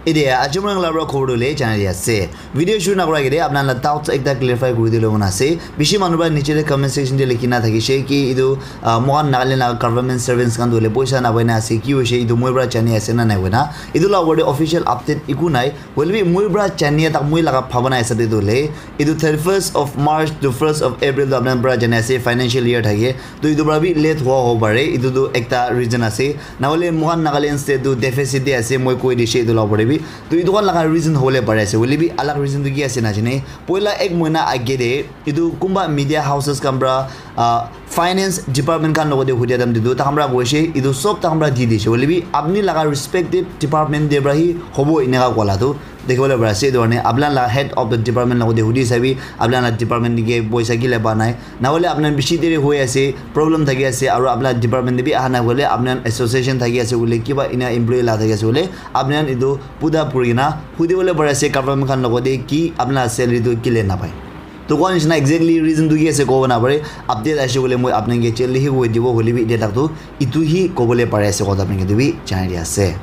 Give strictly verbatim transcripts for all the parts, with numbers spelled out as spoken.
Ede aji moi khan la para khobor tu le janai di ase. Video shuru nakura agede apna la doubts ekta clarify kuri dile mona ase. Bishi manu para niche te comment section te likhi na thakishe ki etu, ah, moikhan Nagaland la government servants khan tu le poisa na paina ase, ki hoishe etu moi para jani ase na nai koina. Etu la opor te official update eku nai. Hoile bi moi para jani tak moi laga bhabana hisab te tu le etu thirty-first of March to first of April tu apna para jani ase financial year thake. To etu para bi late hua hobo pare. Etu tu ekta reason ase. Nahole moikhan Nagaland state tu deficit te ase, moi koi dishe etu la opor te bi. To etu khan laga reason hobole pare ase. Hoile bi alag reason tu ki ase najane. Poila ek mohina age te etu kunba media houses khan para, ah, finance department khan logote hudia time te tu takhan para koishe, etu sob takhan para di dishe. Hoile bi apni laga respected department te para hi hobo eneka kola tu. Dekhi bole pari ase, etu karne apna la head of the department logote hudi sabi, apna la department ke poisa kile pa nai. Nahole apna bishi deri hoi ase, problem thaki ase, aru apna department te bi aha nai koile, apna association thaki ase koile, kiba ena employee la thaki ase koile, apna etu puda puri kena hudi bole pari ase government khan logote ki apna salary tu kile napai. To koa nishina exactly reason tu ki ase kobo napare, update aise koile moi apna ke jaldi hi koi dibo, hoile bi etia tak tu etu hi kobole pari ase koa apna ke tu bi janai di ase.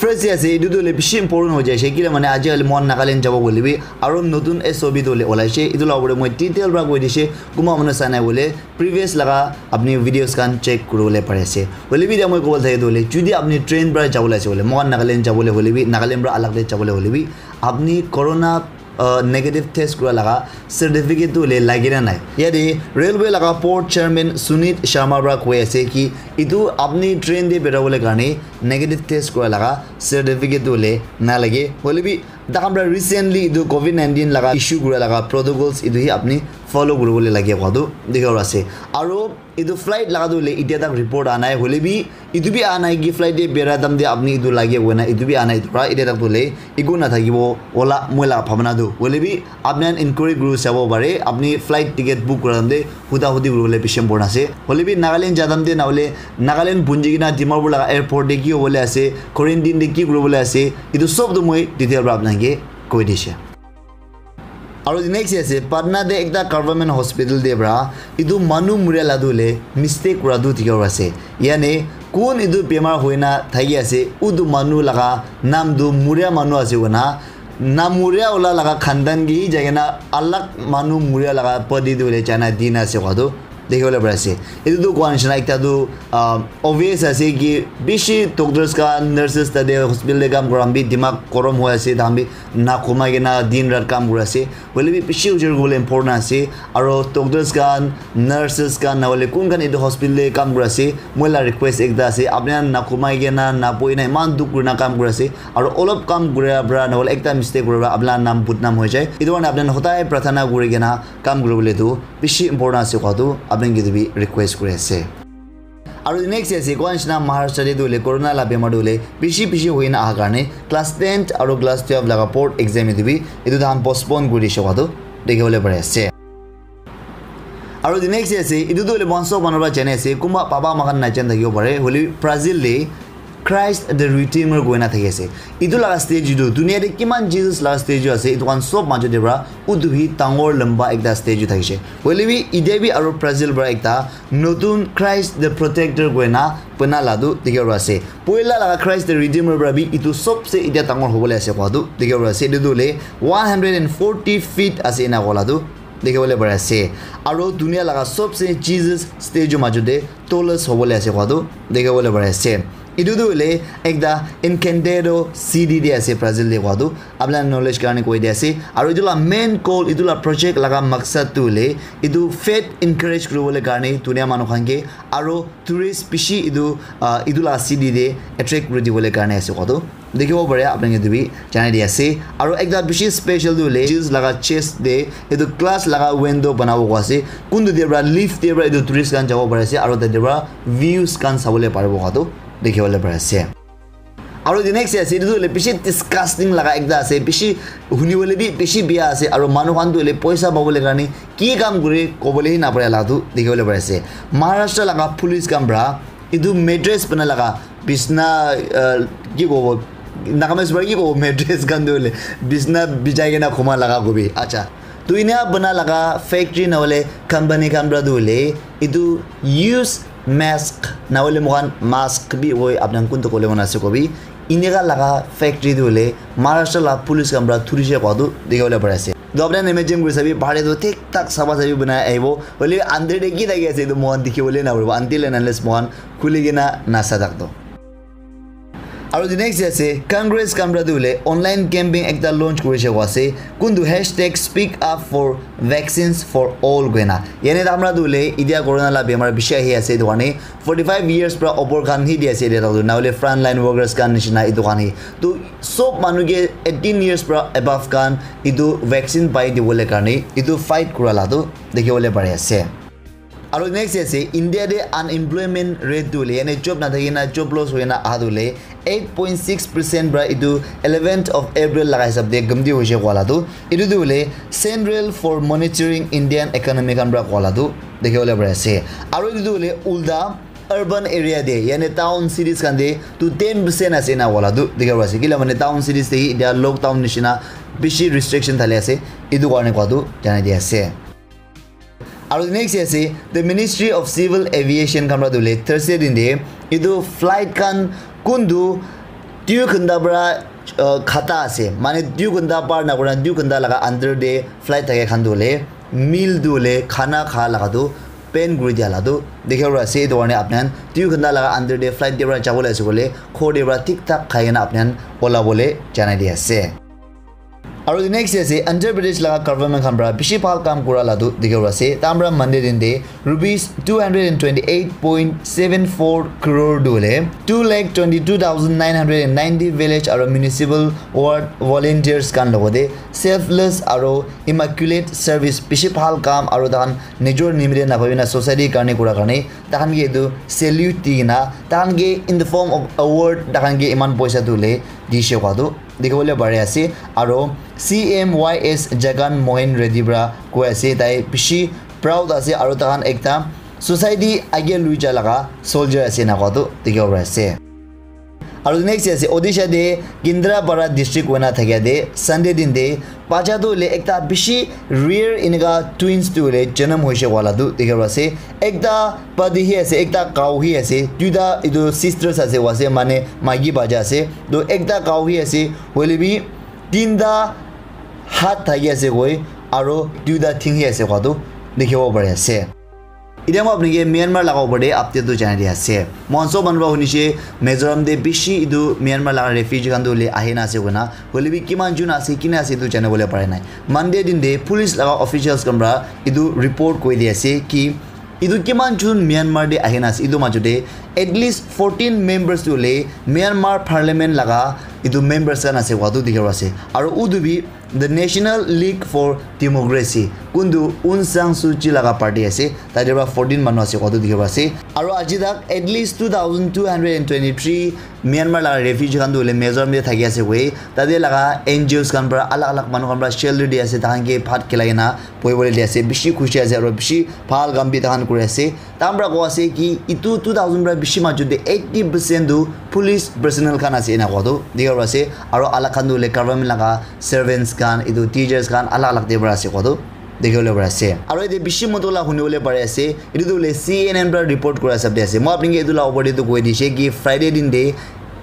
First day ase, etu tu hoile bishi important hoi jaise, kile mane aji kali moikhan Nagaland jabo koile bi, aru notun S O P tu hoile olaise, etu la opor te moi detail para koi dise, kunba manu sai nai koile, previous laga apni videos khan check kuri bole pari ase. Hoile bi etia moi kobole thake tu hoile, jodi apni train para jabo le ase koile, moikhan Nagaland jabo le hoile bi, Nagaland para alag te jabo le hoile bi, apni corona uh, negative test kura laga certificate tu hoile lage na nai. Yate railway laga board chairman Sunit Sharma para koi ase ki etu apni train te bera bole karne negative test kura laga certificate tu hoile na lage. Hoile bi takhan para recently etu covid nineteen laga issue kura laga protocols etu hi apni follow kuri bole lage koa tu dikhi ase. Aru etu flight laga tu hoile etia tak report anai hoile bi etu bi anai ki flight te bera time te apni etu lage koina etu bi anai etu para etia tak tu hoile eku na thakibo ola moi laga bhabana tu. Hoile bi apni khan inquiry kuri sabo pare, apni flight ticket book kura time te huda hudi kuri bole bishi important ase. Hoile bi Nagaland ja time te na hoile Nagaland punji kena Dimapur laga airport te ki hobole ase, quarantine te ki kuri bole ase, etu sob tu moi detail para apna ke koi dise. Aru next ase, Patna te ekta government hospital te para etu manu muria la tu hoile mistake kura tu dikhi ase. Yane kun etu bemar hoina thaki ase, utu manu laga naam tu muria manu ase koina, na muria wala laga khandan ke hi jai kena alag manu muria laga body tu hoile jana dina ase koa tu. Dikhi bole pari ase. Etu tu koa nishina ekta tu, ah, obvious ase ki bishi doctors khan, nurses tate hospital te kam kura khan bi dimag gorom hoi ase, takhan bi na khumai kena din rat kam kuri ase. Hoile bi bishi ujor kuribole important ase. Aro doctors khan, nurses khan, na hoile kun khan etu hospital te kam kuri ase, moi la request ekta ase, apni khan na khumai kena, na boi kena eman dukh kurina kam kuri ase. Aro olop kam kura para, na hoile ekta mistake kura para, apni la naam badnaam hoi jai. Etu karne apni khan hodai prarthana kuri kena kam kuribole tu bishi important ase koa tu apni khan ke tu bi request kuri ase. Aru next ase koa nishina Maharashtra te tu hoile corona la bemar tu hoile bishi bishi hoina aha karne class ten aru class twelve laga board exam etu bi etu tahan postpone kuri dishe koa tu dikhi bole pari ase. Aru the next ase, etu tu hoile moikhan sob manu para jani ase, kunba baba moikhan najan thakibo pare, hoile Brazil te Christ the Redeemer koina thaki ase. Etu laga statue tu dunia te kiman Jesus laga statue ase, etu khan sob majot te para utu hi dangor lamba ekta statue thakishe. Hoile bi etia bi aru Brazil para ekta notun Christ the Protector koina bana la tu dikhibo pari ase. Poila laga Christ the Redeemer para bi etu sobse etia dangor hobole ase koa tu dikhibo pari ase. Etu tu hoile one hundred and forty feet ase ena koa la tu dikhibo le pari ase. Aro dunia laga sobse Jesus statue majot te tallest hobole ase koa tu dikhibo le pari ase. Etu tu hoile ekta encantado city te ase Brazil te koa tu. Apni khan knowledge karne koi di ase. Aro etu la main goal, etu la project laga maksad tu hoile etu faith encourage kuribole karne dunia manu khan ke aro tourist bishi etu, ah, etu la city te attract kuri dibole karne ase koa tu dikhibo pare. Apni khan etu bi janai di ase. Aro ekta bishi special tu hoile Jesus laga chest te etu glass laga window banabo koa ase. Kuntu te para lift te para etu tourist khan jabo pari ase aro tate para views khan sabole paribo koa tu dikhibo le pari ase. Aro the next ase, etu tu hoile bishi disgusting laga ekta ase, bishi huni bole bi bishi bia ase, aro manu khan tu hoile poisa pabole karne ki kam kure kobole hi napare la tu dikhibo le pari ase. Maharashtra laga police khan para etu mattress bana laga bisna, ah, ki kobo, Nagamese para ki kobo, mattress khan tu hoile bisna bijai kena khuma laga kobi. Acha, tu ena bana laga factory na hoile company khan para tu hoile etu use mask na hoile moikhan mask bi hoi, apni khan kuntu kole mona ase kobi, Eneka laga factory tu hoile Maharashtra la police khan para thurishe koa tu dikhi bole pari ase. To apni khan imagine kuri sabi, bahar te tu thik thak safa safi banai ahibo. Hoile bi under te ki thaki ase etu moikhan dikhi bole na paribo until and unless moikhan khuli kena nasa tak to. Aru the next ase Congress khan para tu hoile online campaign ekta launch kurishe koa ase. Kuntu hashtag speak up for vaccines for all koina. Yane tamra tu hoile itia corona la bemar bishi ahi ase etu karne forty five years pra opor khan hi di ase etia tu, na hoile front line workers khan nishina etu khan hi. Tu sob manu ke eighteen years pra above khan etu vaccine pai dibole karne etu fight kura la tu dikhi bole pari ase. Aru next ase India te unemployment rate tu hoile, yane job na thaki na job loss hoina aha tu hoile eight point six percent pra etu eleventh of April laga hisab te gumdi hoise koa la tu. Etu tu hoile Central for Monitoring Indian Economy khan pra koa la tu dikhi bole pari ase. Aru etu tu hoile ulta urban area te, yane town cities khan te tu ten percent ase na koa la tu dikhi bole pari ase. Kila mane town cities te hi etia lockdown nishina bishi restriction thali ase. Etu karne koa tu janai di ase. Aru next ase the Ministry of Civil Aviation khan pra tu hoile Thursday din te etu flight khan kuntu dui ghanta pra uh, khata ase, mane dui ghanta par na kura dui ghanta laga under te flight thake khan tu hoile meal tu hoile khana kha laga tu ban kuri dia la tu dikhi bole ase. Etu karne apni khan dui ghanta laga under te flight te pra jabo le ase koile ghor te pra thik thak khai kena apni khan ola bole janai di ase. Aru the next ase Andhra Pradesh laga government khan pra bishi bhal kam kura la tu dikhi bole ase. Tam pra Monday din te rupees two hundred and twenty eight point seven four crore tu hoile two lakh twenty two thousand nine hundred and ninety village aru municipal ward volunteers khan logote selfless aru immaculate service bishi bhal kam aru tahan nijor nimite na bhabi na society karne kura karne tahan ke etu salute di na tahan ke in the form of award tahan ke iman poisa tu hoile dishe koa tu dikhi bole pari ase. Aru C M Y S Jagan Mohan Reddy pra koi ase, tai bishi proud ase aru tahan ekta society age lui ja laga soldier ase na koa tu dikhi bole pari ase. Aru next ase Odisha te Kendrapara district hoina thakia te Sunday din te bacha tu hoile ekta bishi rare eneka twins tu hoile janam hoise koa la tu dikhi bole pari ase. Ekta buddy hi ase, ekta cow hi ase, duita etu sisters ase koa ase, mane maiki bacha ase. To ekta cow hi ase, hoile bi tinta hat thaki ase koi, aru duita thing hi ase koa tu dikhi bole pari ase. Etia moi apni ke Myanmar laga opor te update tu janai di ase. Moikhan sob manu para hunishe Mizoram te bishi etu Myanmar laga refugee khan tu hoile ahi na ase koina. Hoile bi kiman jun ase, kina ase etu jani bole pare nai. Monday din te police laga officials khan para etu report koi di ase ki etu kiman jun Myanmar te ahi na ase. Etu majot te at least fourteen members tu hoile Myanmar parliament laga etu members khan ase koa tu dikhi ase. Aru utu bi the National League for Democracy, kuntu Aung San Suu Kyi laga party ase, tate para fourteen manu ase koa tu dikhi ase. Aru aji tak at least two thousand two hundred and twenty three Myanmar laga refugee khan tu hoile Mizoram te thaki ase koi, tate laga N G Os khan para alag alag manu khan para shelter di ase, tahan ke bhat khilai na bohi bole di ase, bishi khushi ase aru bishi bhal kam bi tahan kuri ase. Tahan para koa ase ki etu two thousand para bishi majot te eighty percent tu police personnel khan ase ena koa tu dikhi ase, aru alag khan tu hoile government laga servants khan, etu teachers khan alag alag te para ase koa tu dikhi bole pari ase. Aru yate bishi motto la huni bole pari ase, etu tu hoile C N N para report kura hisab te ase. Moi apni ke etu la opor te tu koi dishe ki Friday din te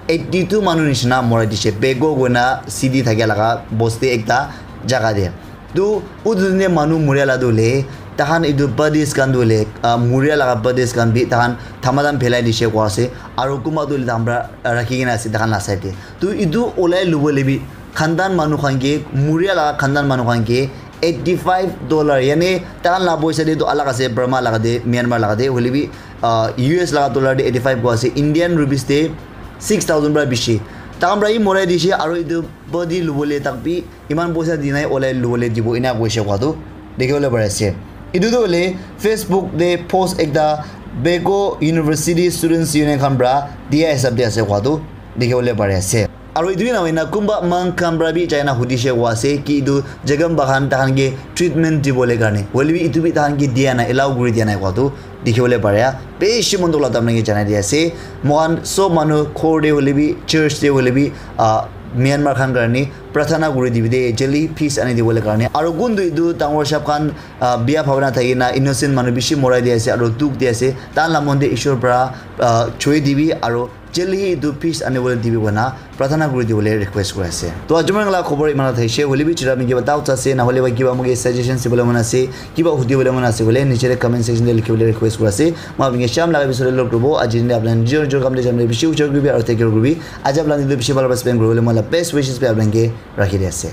eighty two manu nishina morai dishe, Pegu koina city thakia laga bosti ekta jaga te. Tu utu ne manu muria la tu hoile tahan etu bodies khan tu hoile, ah, muria laga bodies khan bi tahan thamatam phelai dishe koa ase, aru kunba tu hoile tahan para rakhi kena ase tahan la side te. Tu etu olai lobo le bi khandan manu khan ke, muria laga khandan manu khan ke eighty five dollar, yane tahan la poisa te tu alag ase, Burma laga te, Myanmar laga te, hoile bi, ah, U S laga dollar te eighty five koa ase, Indian rupees te six thousand para bishi. Tahan para hi morai dishe, aru etu body lobo le tak bi iman poisa di nai, olai lobo le dibo, ena koise koa tu dikhi bole pari ase. Etu tu hoile Facebook te post ekta Pegu University Students Union khan para dia hisab te ase koa tu dikhi bole pari ase. Aru etu bi na hoina kunba monk khan para bi jai na hudishe koa ase ki etu Chakma khan tahan ke treatment dibo le karne, hoile bi etu bi tahan ke dia nai, allow kuri dia nai koa tu dikhi bole pare. Bishi mon dukh la tamna ke janai di ase. Moikhan sob manu ghor te hoile bi, church te hoile bi, ah, Myanmar khan karne prarthana kuri dibi de, jaldi peace ani dibole karne. Aru kuntu etu dangor sahab khan, ah, bia bhabna thaki na innocent manu bishi morai di ase aru dukh di ase. Tahan la mon te Ishwar para, ah, choi dibi aru Jaldi hi etu peace anibole dibi koina pratana kuri dibole request kuri ase. To aji moi laga khobor iman thaise, hoile bi chira mi kiba doubts ase, na hoile ba kiba moke suggestions dibole mon ase, kiba hudi bole mon ase, hoile niche te comment section te likhi bole request kuri ase. Moi apni ke sham laga bisore log kuri bo, aji din apni jor jor kam de jam de bishi ujor kuri bi aru take care kuri bi. Aji apni din bishi bhal spend kuri bole moi la best wishes bi apni ke rakhi di ase.